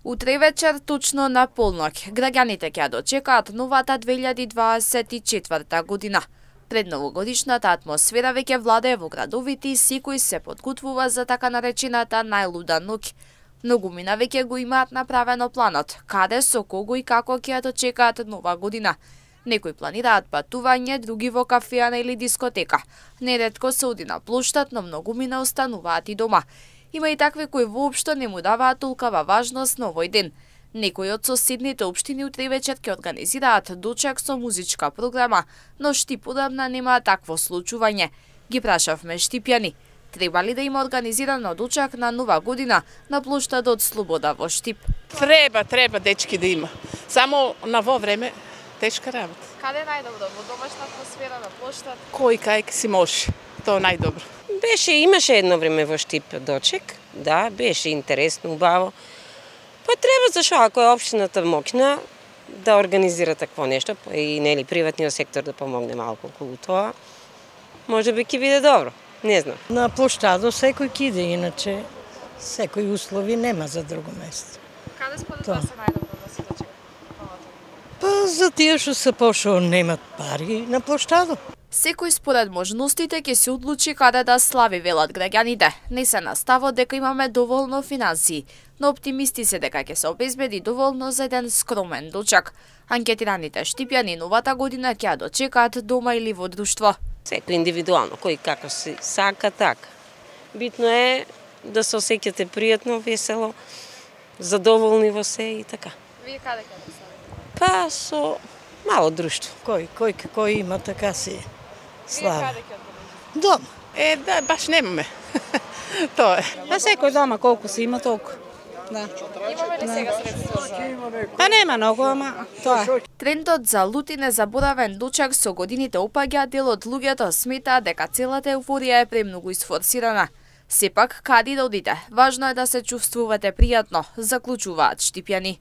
Утре вечер, точно на полноќ, граѓаните ќе дочекаат новата 2024 година. Пред новогодишната атмосфера веќе владее во градовите и секој се подготвува за така наречената најлуда ноќ. Многумина веќе го имаат направено планот, каде, со кого и како ќе дочекаат нова година. Некои планираат патување, други во кафеана или дискотека. Неретко се оди на плоштад, но многумина остануваат и дома. Има и такви кои воопшто не му даваат толкова важност на овој ден. Некои од соседните општини утре вечер ќе организираат дочек со музичка програма, но Штип одамна нема такво случување. Ги прашавме штипјани, треба ли да има организирано дочек на нова година на плоштадот Слобода во Штип? Треба дечки да има. Само на во време тешка работа. Каде најдобро? Во домашна атмосфера на плоштад? Кој кај си може, тоа најдобро. Имаше едно време во Штип дочек, да, беше интересно, убаво. Па треба, зашо ако е општината моќна да организира такво нешто и нели приватниот сектор да помогне малку околу тоа, може би ќе биде добро, не знам. На плоштадот секој ќе иде, иначе секој услови нема за друго место. Каде според вас е најдобро да се дочека? Па за тие што се пошо немат пари на плоштадот. Секој според можностите ќе се одлучи каде да слави, велат граѓаните. Не се на ставот дека имаме доволно финансии, но оптимисти се дека ќе се обезбеди доволно за еден скромен дочек. Анкетираните штипјани новата година ќе дочекаат дома или во друштво. Секој индивидуално, кој како си сака така. Битно е да се осеќате пријатно, весело, задоволни во се и така. Вие каде ќе да славите? Па со мало друштво. Кој има така си слава. Каде ќе одбележите? Дом. Да, баш немаме. Тоа е. Па секој дома колку си има толку. Да. Имаме ли сега средства за... Па нема многу, ама тоа. Трендот за лут и незаборавен дочек со годините опаѓа, дел од луѓето сметаат дека целата еуфорија е премногу исфорсирана. Сепак, каде да одите, важно е да се чувствувате пријатно, заклучуваат штипјани.